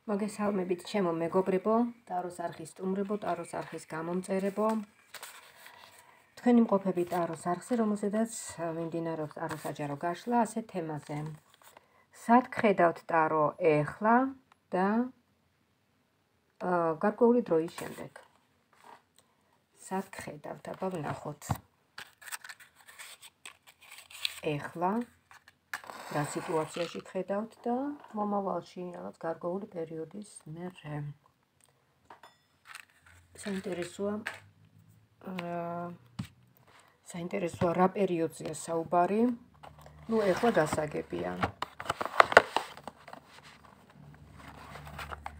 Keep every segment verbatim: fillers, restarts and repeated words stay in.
მოგესალმებით ჩემო მეგობრებო, ტაროს არხის სტუმრებო, ტაროს არხის გამომწერებო. თქვენი მყოფები ტაროს არხზე, რომელზედაც მიმდინარეობს ტაროსაჯარო გაშლა, ასე თემაზე. სად გხედავთ ტარო ეხლა და გარკვეული დროის შემდეგ. სად გხედავთ, აბა ვნახოთ. ეხლა რა სიტუაციაში გხედავთ და მომავალში რაღაც გარკვეული პერიოდის მერე. საინტერესოა საინტერესოა რა პერიოდზეა საუბარი. ნუ ეხლა გასაგებია.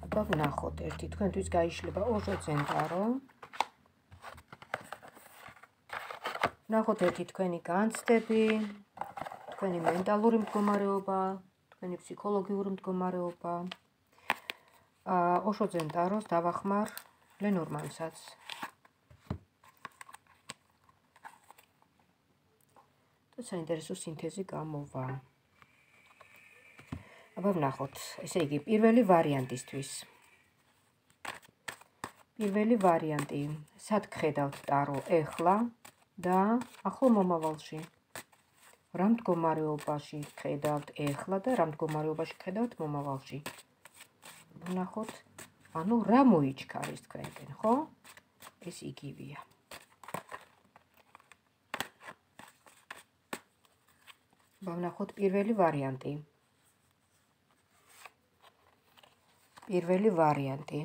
აბა ვნახოთ, ერთი თქვენთვის გაიშლება ოჟოძენ ტარო. ვნახოთ ერთი თქვენი განცდები, თქვენი მენტალური მდგომარეობა, თქვენი ფსიქოლოგიური მდგომარეობა. ოჟოძენ ტაროს დავახმარ ლენორმანსაც. და საინტერესო სინთეზი გამოვა. აბა ვნახოთ, ესე იგი პირველი ვარიანტისთვის. პირველი ვარიანტი, სად გხედავთ ტარო ეხლა და ახლო მომავალში. რა მდგომარეობაში გხედავთ ეხლა და რა მდგომარეობაში გხედავთ მომავალში. ვნახოთ, ანუ რა მოიჩქარის თქვენკენ, ხო? ეს იგივეა. ვნახოთ პირველი ვარიანტი. პირველი ვარიანტი.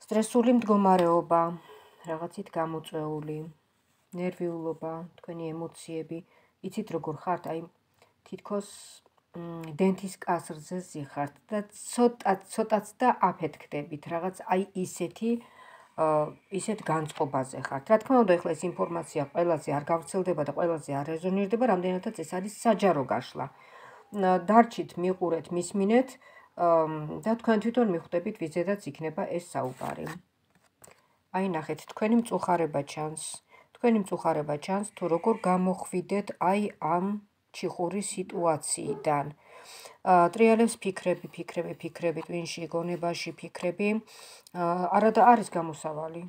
სტრესული მდგომარეობა, რაღაცით გამოწვეული, ნერვიულობა, თქვენი ემოციები, იცით როგორ ხართ, აი თითქოს დენთის კასრზე ზიხართ და ცოტა ცოტაც და აფეთქდებით, რაღაც აი ისეთი ისეთ განწყობაზე ხართ. რა თქმა უნდა, ეხლა ეს ინფორმაცია ყველაზე არ გავრცელდება და ყველაზე არ რეზონირდება, რამდენადაც ეს არის საჯარო გაშლა. დარჩით, მიყურეთ, მისმინეთ და თქვენ თვითონ მიხვდებით, ვიზედაც იქნება ეს საუბარი. აი ნახეთ, თქვენი მწუხარება ჩანს. თქვენი მწუხარება ჩანს, თუ როგორ გამოხვიდეთ აი ამ ჩიხური სიტუაციიდან. ტრიალებს ფიქრები, ფიქრები, ფიქრები, ტვინში, გონებაში ფიქრები. არა და არის გამოსავალი,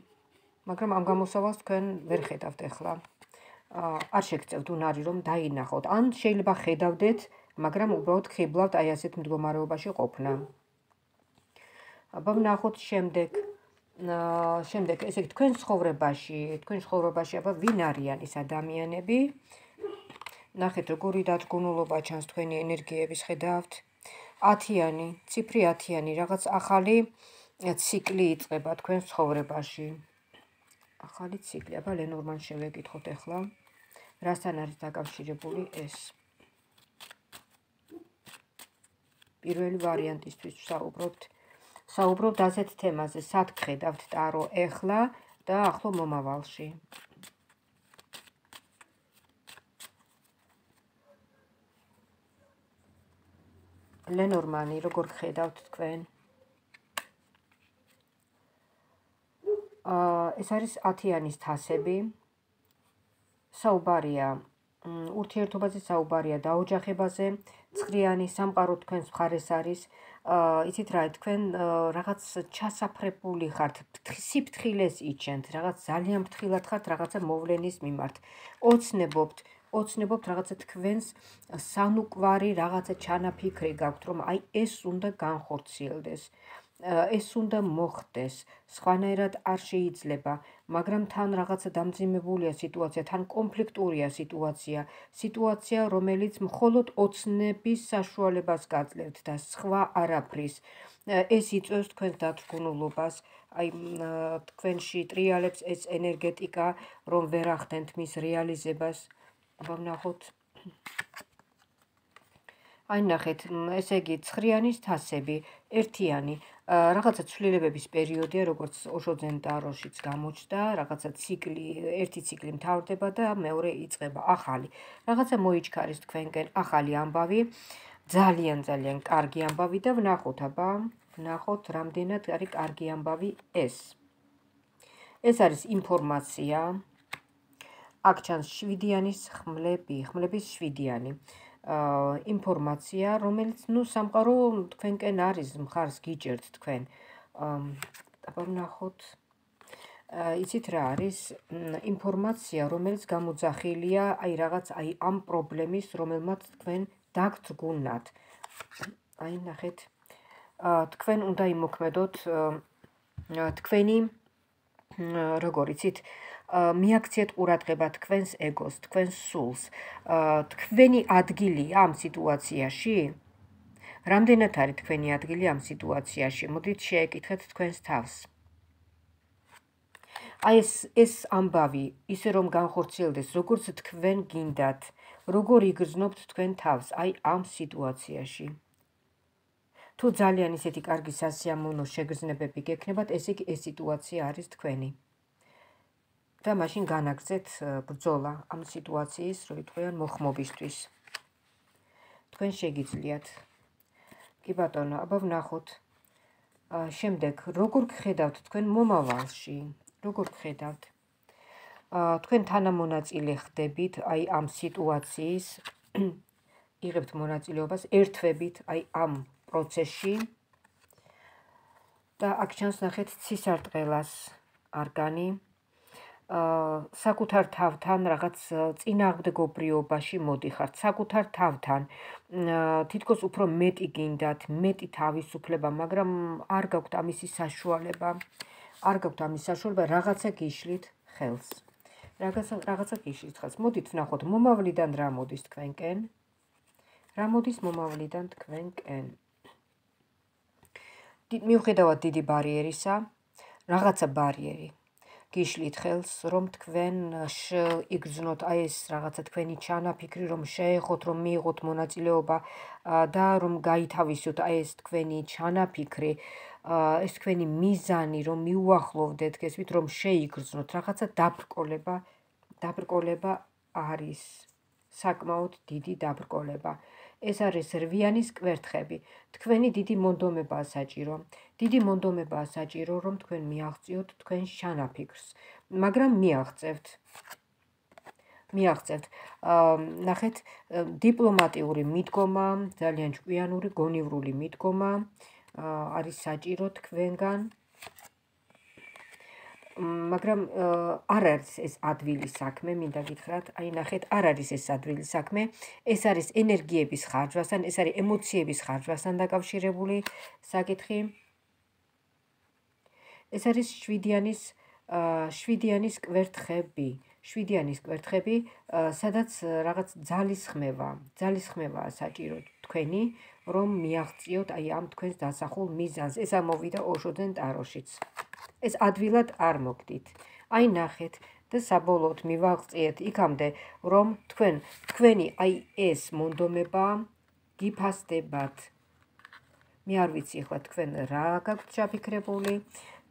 მაგრამ ამ გამოსავალს თქვენ ვერ ხედავთ ეხლა. არ შეგწევთ უნარი, რომ დაინახოთ. ან შეიძლება ხედავდეთ, მაგრამ უბრალოდ ხიბლავთ აი ასეთ მდგომარეობაში ყოფნა. აბა ვნახოთ შემდეგ. შემდეგ, ესე იგი, თქვენ ცხოვრებაში, თქვენ ცხოვრებაში, აბა ვინ არიან ეს ადამიანები? ნახეთ, როგორი დადგმულობა ჩანს თქვენი ენერგიების, ხედავთ. ათიანი, ციფრი ათიანი, რაღაც ახალი ციკლი იწყება თქვენ ცხოვრებაში. ახალი ციკლი, აბა ლენორმან შევეკითხოთ ეხლა. რასთან არის დაკავშირებული ეს? პირველი ვარიანტისთვის საუბრობთ. საუბრობთ ასეთ თემაზე, სად გხედავთ ტარო ეხლა და ახლო მომავალში. ლენორმანი, როგორ გხედავთ თქვენ? ეს არის ათიანის თასები. საუბარია ურთიერთობაზე, საუბარია დაოჯახებაზე. ცხრიანი სამყარო თქვენს მხარეს არის. იცით რა, თქვენ რაღაც ჩასაფრებული ხართ, სიფრთხილეს იჩენთ, რაღაც ძალიან ფრთხილად ხართ რაღაცა მოვლენის მიმართ. ოცნებობთ, ოცნებობთ რაღაცა თქვენს სანუკვარი რაღაცა ჩანაფიქრი გაქვთ, რომ აი ეს უნდა განხორციელდეს. ეს უნდა მოხდეს, სხვანაირად არ შეიძლება, მაგრამ თან რაღაცა დამძიმებულია სიტუაცია, თან კონფლიქტურია სიტუაცია, სიტუაცია, რომელიც მხოლოდ ოცნების საშუალებას გაძლევთ და სხვა არაფრის. ეს იწვევს თქვენს დათრგუნულობას, აი თქვენში ტრიალებს ეს ენერგეტიკა, რომ ვერ ახდენთ მის რეალიზებას. აბა ვნახოთ. აი ნახეთ, ესე იგი, ცხრიანის თასები, ერთიანი. რაღაცა ცვლილებების პერიოდია, როგორც ოჟოძენ ტაროშიც გამოჩნდა, რაღაცა ციკლი, ერთი ციკლი მთავრდება და მეორე იწყება ახალი. რაღაცა მოიჩქარის თქვენკენ ახალი ამბავი, ძალიან ძალიან კარგი ამბავი და ვნახოთ, აბა, ვნახოთ, რამდენად არის კარგი ამბავი ეს. ეს არის ინფორმაცია. აქ ჩანს შვიდიანის ხმლები, ხმლების შვიდიანი. ინფორმაცია, რომელიც ნუ სამყარო თქვენკენ არის, მხარს გიჭერთ თქვენ. აბა ვნახოთ. იცით რა არის ინფორმაცია, რომელიც გამოძახილია აი რაღაც აი ამ პრობლემის, რომელმაც თქვენ დაგძგუნათ. აი ნახეთ. თქვენ უნდა იმოქმედოთ თქვენი როგორ იცით მიაქციეთ ყურადღება თქვენს ეგოს, თქვენს სულს. თქვენი ადგილია ამ სიტუაციაში? რამდენად არის თქვენი ადგილი ამ სიტუაციაში? მოდით შეეკითხეთ თქვენს თავს. აი ეს ეს ამბავი, ისე რომ განხორციელდეს, როგორც თქვენ გინდათ, როგორ იგრძნობთ თქვენ თავს აი ამ სიტუაციაში. თუ ძალიან ისეთი კარგი სასიამოვნო შეგრძნებები გექნებათ, ესე იგი ეს სიტუაცია არის თქვენი. და მაშინ განაგრძეთ ბრძოლა ამ სიტუაციის, რო იტყვიან მოხმობისთვის. თქვენ შეგიძლიათ. კი ბატონო, აბა ვნახოთ. შემდეგ, როგორ გხედავთ თქვენ მომავალში? როგორ გხედავთ? თქვენ თანამონაწილე ხდებით აი ამ სიტუაციის, იღებთ მონაწილეობას, ერთვებით აი ამ პროცესში და აქ ჩანს ნახეთ ცისარტყელას არგანი. საკუთარ თავთან რაღაც წინააღმდეგობრიობაში მოდიხართ, საკუთარ თავთან თითქოს უფრო მეტი გინდათ, მეტი თავისუფლება, მაგრამ არ გაქვთ ამისი საშუალება, არ გაქვთ ამის საშუალება, რაღაცა გიშლით ხელს. რაღაცა რაღაცა გიშლით ხელს. მოდით ვნახოთ, მომავლიდან რა მოდის თქვენკენ? რა მოდის მომავლიდან თქვენკენ? მიუხედავად დიდი ბარიერისა, რაღაცა ბარიერი გიშლით ხელს, რომ თქვენ იგრძნოთ აი ეს რაღაცა თქვენი ჩანაფიქრი, რომ შეეხოთ, რომ მიიღოთ მონაწილეობა და რომ გაითავისოთ აი ეს თქვენი ჩანაფიქრი, ეს თქვენი მიზანი, რომ მიუახლოვდეთ, გესმით, რომ შეიგრძნოთ, რაღაცა დაბრკოლება, დაბრკოლება არის, საკმაოდ დიდი დაბრკოლება. ეს არის რვიანის კვერთხები. თქვენი დიდი მონდომებაა საჭირო. დიდი მონდომებაა საჭირო, რომ თქვენ მიაღწიოთ თქვენს ჩანაფიქრს, მაგრამ მიაღწევთ. მიაღწევთ. ნახეთ, დიპლომატიური მიდგომა, ძალიან ჭკვიანური, გონივრული მიდგომა არის საჭირო თქვენგან. მაგრამ არ არის ეს ადვილი საქმე, მინდა გითხრათ, აი ნახეთ, არ არის ეს ადვილი საქმე, ეს არის ენერგიების ხარჯვასთან, ეს არის ემოციების ხარჯვასთან დაკავშირებული საკითხი. ეს არის შვიდიანის შვიდიანის კვერთხები, შვიდიანის კვერთხები, სადაც რაღაც ძალისხმევა, ძალისხმევაა საჭირო თქვენი, რომ მიაღწიოთ აი ამ თქვენს დასახულ მიზანს. ეს ამოვიდა ოშოძენ ტაროშიც. ეს ადვილად არ მოგდით. აი ნახეთ და საბოლოოდ მივაღწიეთ იქამდე, რომ თქვენ თქვენი აი ეს მონდომება გიფასდებათ. მე არ ვიცი ახლა თქვენ რა გაქვთ ჩაფიქრებული,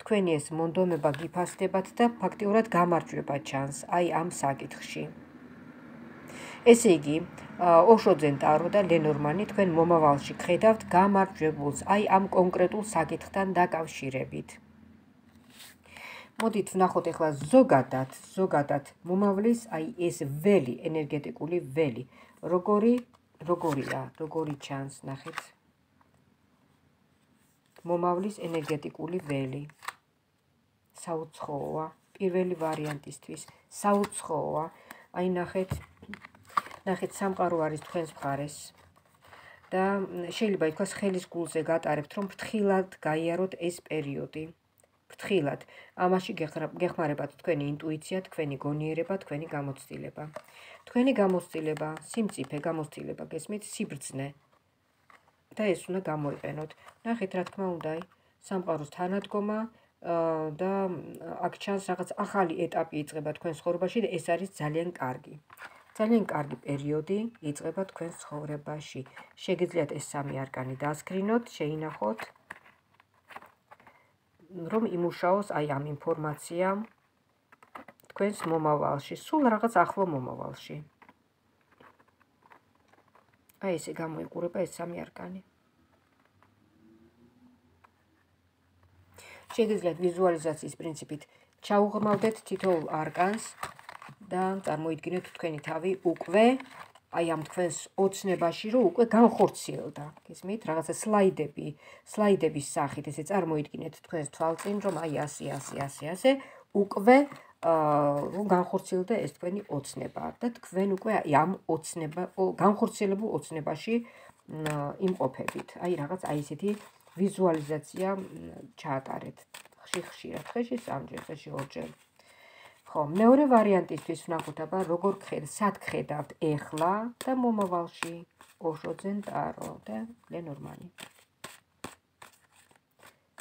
თქვენი ეს მონდომება გიფასდებათ და ფაქტიურად გამარჯვება ჩანს აი ამ საკითხში. ესე იგი, ოშოძენ ტარო და ლენორმანი თქვენ მომავალში გხედავთ გამარჯვებულს აი ამ კონკრეტულ საკითხთან დაკავშირებით. მოდით ვნახოთ ახლა ზოგადად, ზოგადად მომავლის აი ეს ველი, ენერგეტიკული ველი, როგორი, როგორია, როგორი ჩანს, ნახეთ. მომავლის ენერგეტიკული ველი. საუცხოა, პირველი ვარიანტისთვის, საუცხოა. აი ნახეთ, ნახეთ, სამყარო არის თქვენს მხარეს. და შეიძლება ითქვას ხელის გულზე გატარებთ, რომ ფრთხილად გაიაროთ ეს პერიოდი. ფრთხილად. ამაში გეხმარებათ თქვენი ინტუიცია, თქვენი გონიერება, თქვენი გამოცდილება. თქვენი გამოცდილება, სიმწიფე გამოცდილება, გესმით, სიბრძნე. და ეს უნდა გამოიყენოთ. ნახეთ, რა თქმა უნდა, სამყაროს თანადგომა და აქ ჩანს რაღაც ახალი ეტაპი იწყება თქვენ ცხოვრებაში და ეს არის ძალიან კარგი. ძალიან კარგი პერიოდი იწყება თქვენ ცხოვრებაში. შეგიძლიათ ეს სამი არკანი დასკრინოთ, შეინახოთ, რომ იმუშაოს აი ამ ინფორმაცია თქვენს მომავალში, სულ რაღაც ახლო მომავალში. აი ესე გამოიყურება ეს სამი არკანი. შეგიძლიათ ვიზუალიზაციის პრინციპით ჩაუღრმავდეთ თითოეულ არკანს და წარმოიდგინეთ თქვენი თავი უკვე აი ამ თქვენს ოცნებაში, რომ უკვე განხორციელდა. გესმით, რაღაცა სლაიდები, სლაიდების სახით ესე წარმოიდგინეთ თქვენს თვალწინ, რომ აი ასე, ასე, ასე, ასე უკვე რომ განხორციელდა ეს თქვენი ოცნება და თქვენ უკვე აი ამ ოცნება, განხორციელებულ ოცნებაში იმყოფებით. აი რაღაც აი ესეთი ვიზუალიზაცია ჩაატარეთ. ხშირ-ხშირად, ხეში სამჯერ, ხეში ორჯერ. ხო, მეორე ვარიანტისთვის ვნახოთ აბა როგორ გხედავთ, სად გხედავთ ეხლა და მომავალში. ოშოძენ ტარო და ლენორმანი.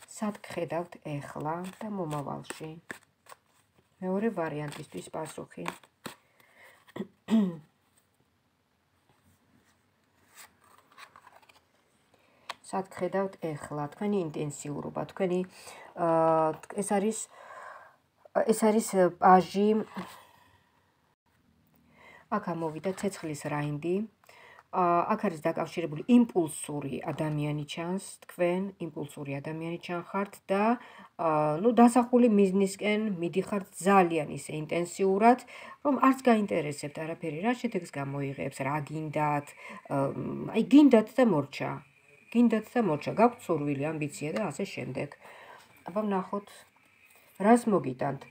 სად გხედავთ ეხლა და მომავალში. მეორე ვარიანტისთვის პასუხი. სად გხედავთ ეხლა, თქვენი ინტენსიურობა, თქვენი ეს არის ეს არის პაჟი. აქ ამოვიდა ცეცხლის რაინდი. აქ არის დაკავშირებული იმპულსური ადამიანი ჩანს, თქვენ იმპულსური ადამიანი ჩანხართ და ნუ დასახული მიზნისკენ მიდიხართ ძალიან ისე ინტენსიურად, რომ არც გაინტერესებთ არაფერი, რა შედეგს გამოიღებს, რა გინდათ, აი გინდათ და მორჩა. გინდათ და მორჩა, გაქვთ სურვილი, ამბიცია და ასე შემდეგ. აბა ვნახოთ, რას მოგიტანთ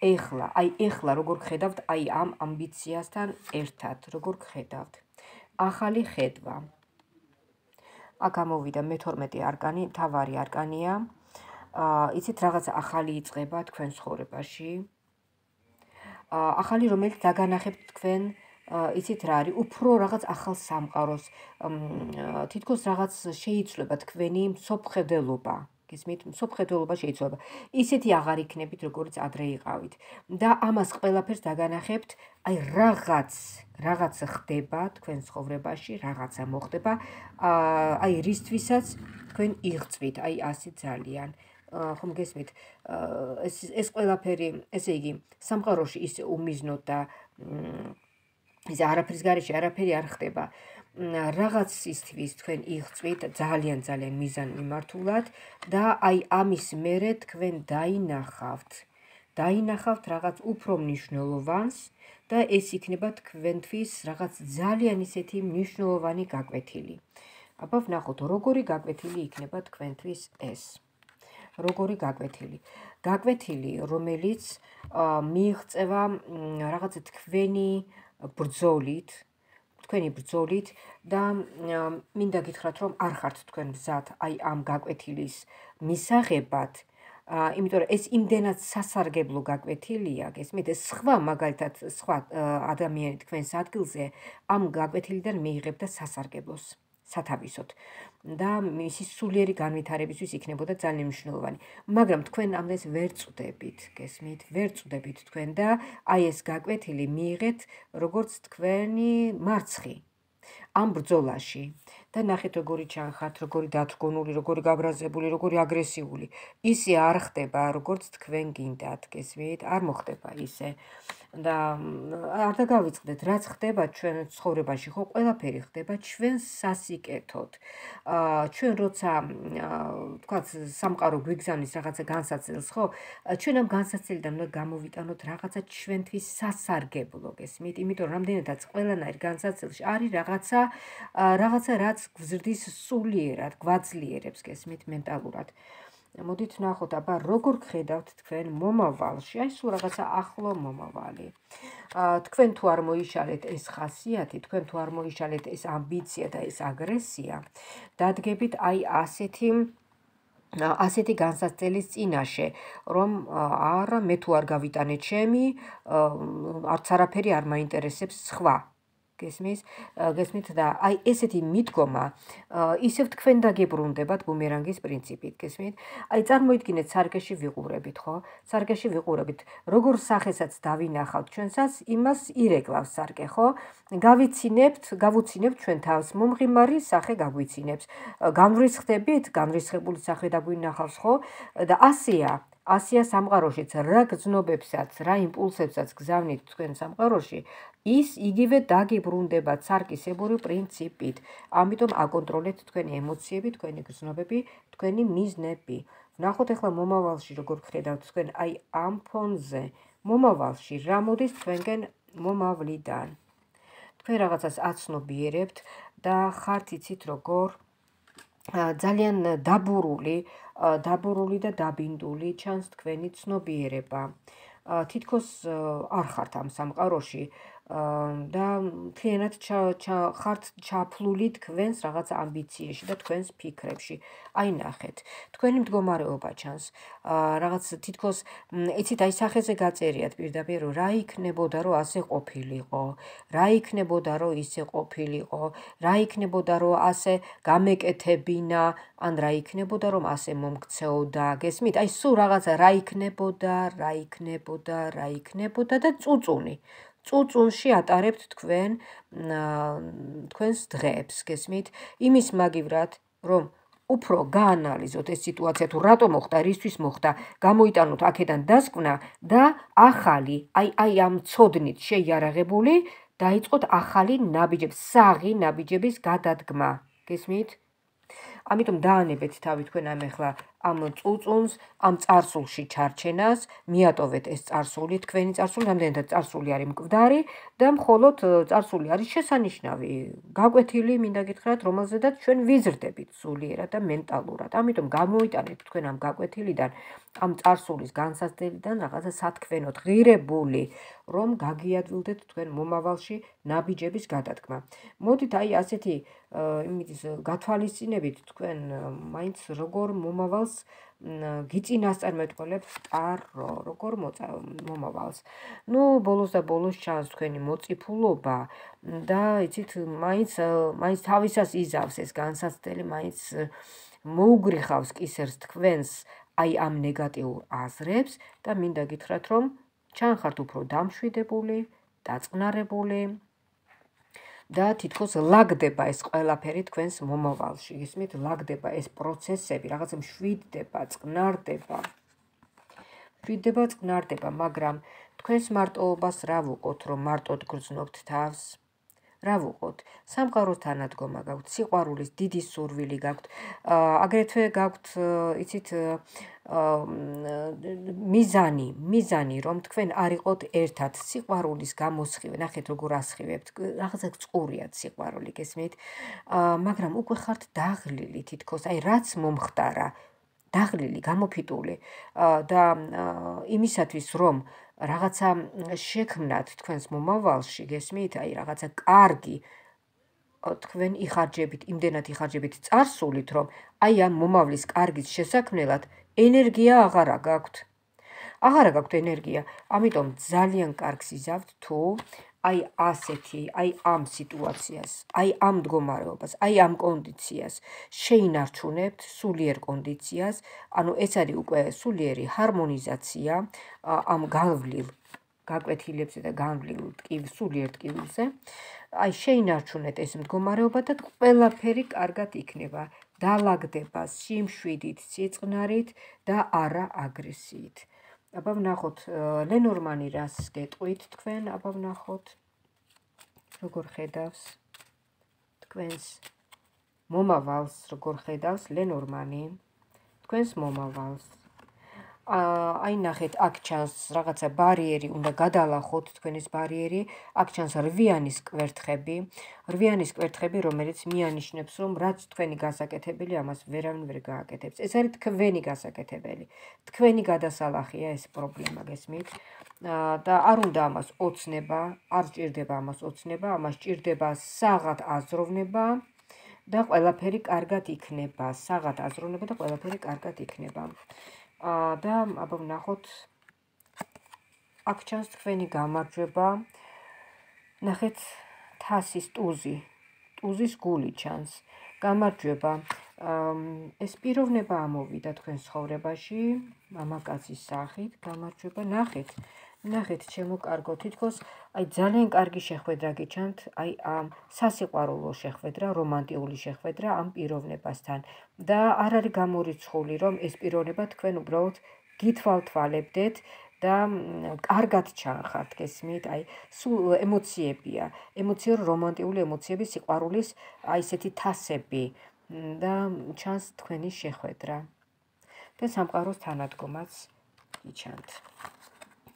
ეხლა, აი ეხლა როგორ გხედავთ აი ამ ამბიციასთან ერთად, როგორ გხედავთ. ახალი ხედვა. აქ ამოვიდა მეთორმეტე არკანი, მთავარი არკანია. იცით რაღაცა ახალი იწყება თქვენ ცხოვრებაში. ახალი, რომელიც დაგანახებთ თქვენ, იცით რა არის, უფრო რაღაც ახალ სამყაროს, თითქოს რაღაც შეიცვლება თქვენი მსოფლმხედველობა. გესმით, მსოფლმხედველობა შეიცვლება. ისეთი აღარ იქნებით, როგორც ადრე იყავით. და ამას ყველაფერს დაგანახებთ, აი რაღაც, რაღაც ხდება თქვენ ცხოვრებაში, რაღაცა მოხდება, აი რისთვისაც თქვენ იღწვით, აი ასე ძალიან. ხომ გესმით, ეს ეს ყველაფერი, ესე იგი, სამყაროში ისე უმიზნოდ და ისე არაფრის გარეშე არაფერი არ ხდება. რაღაც ისთვის თქვენ იღწვით ძალიან ძალიან მიზანმიმართულად და აი ამის მერე თქვენ დაინახავთ. დაინახავთ რაღაც უფრო მნიშვნელოვანს და ეს იქნება თქვენთვის რაღაც ძალიან ისეთი მნიშვნელოვანი გაკვეთილი. აბა ვნახოთ, როგორი გაკვეთილი იქნება თქვენთვის ეს. როგორი გაკვეთილი. გაკვეთილი, რომელიც მიიღწევა რაღაცა თქვენი ბრძოლით, თქვენი ბრძოლით და მინდა გითხრათ, რომ არ ხართ თქვენ მზად აი ამ გაკვეთილის მისაღებად, იმიტომ რომ ეს იმდენად სასარგებლო გაკვეთილია, გესმით, ეს სხვა მაგალითად სხვა ადამიანი თქვენს ადგილზე ამ გაკვეთილიდან მიიღებდა სასარგებლოს, სათავისოდ და მისი სულიერი განვითარებისთვის იქნებოდა ძალიან მნიშვნელოვანი. მაგრამ თქვენ ამდენს ვერ წვდებით, გესმით, ვერ წვდებით თქვენ და აი ეს გაკვეთილი მიიღეთ როგორც თქვენი მარცხი ამ ბრძოლაში. და ნახეთ როგორი ჩანხართ, როგორი დათრგუნული, როგორი გაბრაზებული, როგორი აგრესიული. ისე არ ხდება, როგორც თქვენ გინდათ, გესმით, არ მოხდება ისე. და არ დაგავიწყდეთ, რაც ხდება ჩვენ ცხოვრებაში, ხო, ყველაფერი ხდება ჩვენ სასიკეთოდ. ჩვენ როცა თქვათ სამყარო გვიგზავნის რაღაცა განსაცდელს, ხო, ჩვენ ამ განსაცდელიდან უნდა გამოვიტანოთ რაღაცა ჩვენთვის სასარგებლო, გესმით, იმიტომ რომ რამდენადაც ყველანაირ განსაცდელში არის რაღაცა რაღაცა რაც გვზრდის სულიერად, გვაძლიერებს, გესმით, მენტალურად. მოდით ვნახოთ, აბა როგორ გხედავთ თქვენ მომავალში, აი სულ რაღაცა ახლო მომავალი. თქვენ თუ არ მოიშალეთ ეს ხასიათი, თქვენ თუ არ მოიშალეთ ეს ამბიცია და ეს აგრესია, დადგებით აი ასეთი ასეთი განსაცდელის წინაშე, რომ არა, მე თუ არ გავიტანე ჩემი, არც არაფერი არ მაინტერესებს სხვა. გესმის, გესმით და აი ესეთი მიდგომა ისევ თქვენ დაგებრუნდებათ ბუმერანგის პრინციპით, გესმით? აი წარმოიდგინეთ, სარკეში ვიყურებით, ხო? სარკეში ვიყურებით, როგორ სახესაც დავინახავთ ჩვენსაც, იმას ირეკლავს სარკე, ხო? გავიცინებთ, გავუცინებთ ჩვენ თავს, მომღიმარი სახე გაგვიცინებს. განვრისხდებით, განრისხებული სახე დაგვინახავს, ხო? და ასეა. ასია სამყაროშიც რა გრძნობებსაც, რა იმპულსებსაც გზავნით თქვენ სამყაროში, ის იგივე დაგებრუნდებათ სარკისებური პრინციპით. ამიტომ აკონტროლეთ თქვენი ემოციები, თქვენი გრძნობები, თქვენი მიზნები. ვნახოთ ახლა მომავალში როგორ გხედავთ თქვენ აი ამ ფონზე. მომავალში რა მოდის თქვენგან მომავლიდან. თქვენ რაღაცას აცნობიერებთ და ხართ იცით როგორ ძალიან დაბურული, დაბურული და დაბინდული ჩანს თქვენი ცნობიერება. თითქოს არ ხართ ამ სამყაროში და მთლიანად ხართ ჩაფლული თქვენს რაღაც ამბიციაში და თქვენს ფიქრებში. აი ნახეთ, თქვენი მდგომარეობა ჩანს. რაღაც თითქოს იცით, აი სახეზე გაწერიათ პირდაპირ, რომ რა იქნებოდა, რომ ასე ყოფილიყო, რა იქნებოდა, რომ ისე ყოფილიყო, რა იქნებოდა, რომ ასე გამეკეთებინა, ან რა იქნებოდა, რომ ასე მომქცეოდა, გესმით? აი სულ რაღაცა რა იქნებოდა, რა იქნებოდა, რა იქნებოდა და წუწუნი. წუწუნში ატარებთ თქვენ თქვენს დღეებს, გესმით? იმის მაგივრად, რომ უფრო გაანალიზოთ ეს სიტუაცია, თუ რატო მოხდა, რისთვის მოხდა, გამოიტანოთ აქედან დასკვნა და ახალი, აი აი ამ ცოდნით შეიარაღებული, დაიწყოთ ახალი ნაბიჯების, საღი ნაბიჯების გადადგმა, გესმით? ამიტომ დაანებეთ თავი თქვენ ამ ახლა ამ წუწუნს, ამ წარსულში ჩარჩენას, მიატოვეთ ეს წარსული, თქვენი წარსული, რამდენადაც წარსული არის მკვდარი და მხოლოდ წარსული არის შესანიშნავი, გაკვეთილი, მინდა გითხრათ, რომელზედაც ჩვენ ვიზრდებით სულიერად და მენტალურად. ამიტომ გამოიტანეთ თქვენ ამ გაკვეთილიდან, ამ წარსულის განსაზღვრიდან რაღაცა სათქმენოდ ღირებული, რომ გაგიადვილდეთ თქვენ მომავალში ნაბიჯების გადადგმა. მოდით აი ასეთი იმის გათვალისწინებით თქვენ მაინც როგორ მომავალს გიწინასწარმეტყველებთ ტარო, როგორ მომავალს. ნუ ბოლოს და ბოლოს ჩანს თქვენი მოწიფულობა და იცით, მაინც მაინც თავისას იზავს ეს განსაცდელი, მაინც მოუგრიხავს კისერს თქვენს აი ამ ნეგატიურ აზრებს და მინდა გითხრათ, რომ ჩანხართ უფრო დამშვიდებული, დაწყნარებული და თითქოს ლაგდება ეს ყველაფერი თქვენს მომავალში, გესმით? ლაგდება ეს პროცესები, რაღაცა მშვიდდება, წყნარდება. მშვიდდება, წყნარდება, მაგრამ თქვენს მარტოობას რა ვუყოთ, რომ მარტოდ გრძნობთ თავს? რა ვუყოთ? სამყაროს თანადგომა გაქვთ, სიყვარულის დიდი სურვილი გაქვთ, აგრეთვე გაქვთ, იცით, მიზანი, მიზანი, რომ თქვენ არ იყოთ ერთად, სიყვარულის გამოსხივე, ნახეთ როგორ ასხივებთ, რაღაცა წყურიათ სიყვარული, გესმით? მაგრამ უკვე ხართ დაღლილი თითქოს, აი რაც მომხდარა, დაღლილი, გამოფიტული და იმისათვის, რომ რაღაცა შექმნათ თქვენს მომავალში, გესმით? აი რაღაცა კარგი თქვენ იხარჯებით, იმდენად იხარჯებით წარსულით, რომ აი ამ მომავლის კარგის შესაქმნელად ენერგია აღარა გაქვთ. აღარა გაქვთ ენერგია, ამიტომ ძალიან კარგს იზავთ თუ აი ასეთი, აი ამ სიტუაციას, აი ამ მდგომარეობას, აი ამ კონდიციას შეინარჩუნებთ სულიერ კონდიციას, ანუ ეს არის უკვე სულიერი ჰარმონიზაცია ამ განვლილ გაკვეთილებზე და განვლილ სულიერ ტკივილზე. აი შეინარჩუნეთ ეს მდგომარეობა და ყველაფერი კარგად იქნება, დალაგდება სიმშვიდით, სიწყნარით და არა აგრესიით. აბა ვნახოთ, ლენორმანი რას გეტყვით თქვენ, აბა ვნახოთ, როგორ ხედავს თქვენს მომავალს, როგორ ხედავს ლენორმანი თქვენს მომავალს. აი ნახეთ, აქ ჩანს რაღაცა ბარიერი, უნდა გადალახოთ თქვენის ბარიერი, აქ ჩანს რვიანის კვერთხები, რვიანის კვერთხები, რომელიც მიანიშნებს, რომ რაც თქვენი გასაკეთებელი, ამას ვერავინ ვერ გააკეთებს. ეს არის თქვენი გასაკეთებელი, თქვენი გადასალახია ეს პრობლემა, გესმით? და არ უნდა ამას ოცნება, არ სჭირდება ამას ოცნება, ამას სჭირდება საღად აზროვნება და ყველაფერი კარგად იქნება, საღად აზროვნება და ყველაფერი კარგად იქნება. და აბა ვნახოთ, აქ ჩანს თქვენი გამარჯვება, ნახეთ, თასის ტუზი, ტუზის გული ჩანს, გამარჯვება, ეს პიროვნება ამოვიდა თქვენ ცხოვრებაში, მამაკაცის სახით, გამარჯვება, ნახეთ, ნახეთ, ჩემო კარგო, თითქოს აი ძალიან კარგი შეხვედრა გიჩანთ, აი ამ სასიყვარულო შეხვედრა, რომანტიული შეხვედრა ამ პიროვნებასთან და არ არის გამორიცხული, რომ ეს პიროვნება თქვენ უბრალოდ გითვალთვალებდეთ და კარგად ჩანხართ, გესმით? აი სულ ემოციებია, ემოციურ რომანტიული ემოციები, სიყვარულის აი ესეთი თასები და ჩანს თქვენი შეხვედრა და სამყაროს თანადგომაც გიჩანთ.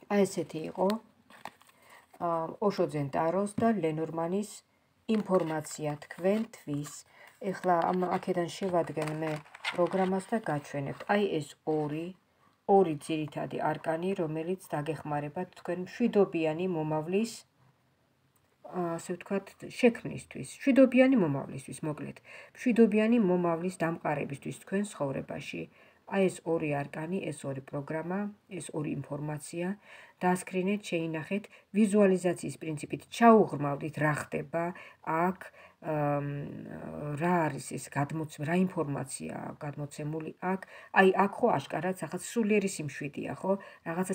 აი ესეთი იყო ოშოძენ ტაროს და ლენორმანის ინფორმაცია თქვენთვის. ეხლა ამ აქედან შევადგენ მე პროგრამას და გაჩვენებთ. აი ეს ორი ორი ძირითადი არკანი, რომელიც დაგეხმარებათ თქვენ მშვიდობიანი მომავლის, ასე ვთქვათ, შექმნისთვის. მშვიდობიანი მომავლისთვის, მოკლედ. მშვიდობიანი მომავლის დამყარებისთვის თქვენ ცხოვრებაში. აი ეს ორი არკანი, ეს ორი პროგრამა, ეს ორი ინფორმაცია, დაასკრინეთ, შეინახეთ, ვიზუალიზაციის პრინციპით ჩაუღრმავდით რა ხდება აქ, რა არის ეს გადმოცემული, რა ინფორმაცია გადმოცემული აქ. აი აქ ხო აშკარად რაღაც სულიერი სიმშვიდეა, ხო? რაღაცა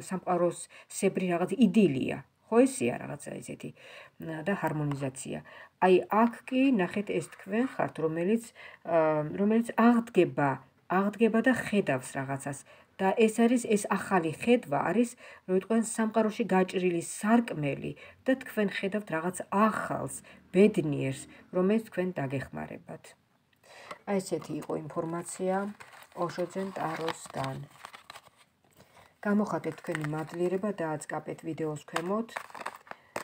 სამყაროსებრი რაღაც იდილია. ხო ესეა რაღაცა ესეთი და ჰარმონიზაცია. აი აქ კი ნახეთ ეს თქვენ ხართ, რომელიც რომელიც აღდგება, აღდგება და ხედავს რაღაცას. და ეს არის ეს ახალი ხედვა არის, რომ ვიტყვენ სამყაროში გაჭრილი სარკმელი და თქვენ ხედავთ რაღაც ახალს, ბედნიერს, რომელიც თქვენ დაგეხმარებათ. აი ესეთი იყო ინფორმაცია ოშოძენ ტაროსგან. გამოხატეთ თქვენი მადლიერება და აწყაპეთ ვიდეოს ქვემოთ.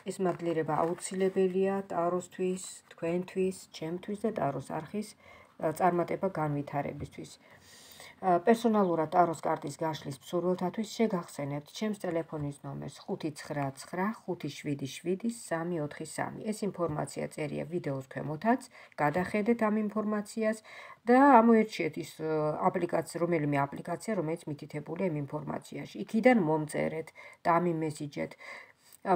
ეს მადლიერება აუცილებელია ტაროსთვის, თქვენთვის, ჩემთვის და ტაროს არხის წარმატება განვითარებისთვის. პერსონალურად ტაროს კარტის გაშლის მსურველთათვის შეგახსენებთ ჩემს ტელეფონის ნომერს ხუთი ცხრა ცხრა ხუთი შვიდი შვიდი სამი ოთხი სამი. ეს ინფორმაცია წერია ვიდეოს ქვემოთაც, გადახედეთ ამ ინფორმაციას და ამოერჩიეთ ის აპლიკაცია, რომელიმე აპლიკაცია, რომელიც მითითებულია იმ ინფორმაციაში. იქიდან მომწერეთ და ამიმესიჯეთ.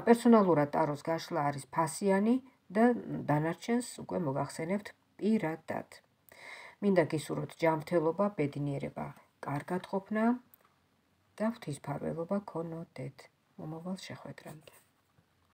პერსონალურად ტაროს გაშლა არის ფასიანი და დანარჩენს უკვე მოგახსენებთ პირადად. მინდა გისურვოთ ჯანმრთელობა, ბედნიერება, კარგად ყოფნა და ღვთისმფარველობა გქონოდეთ. მომავალ შეხვედრამდე.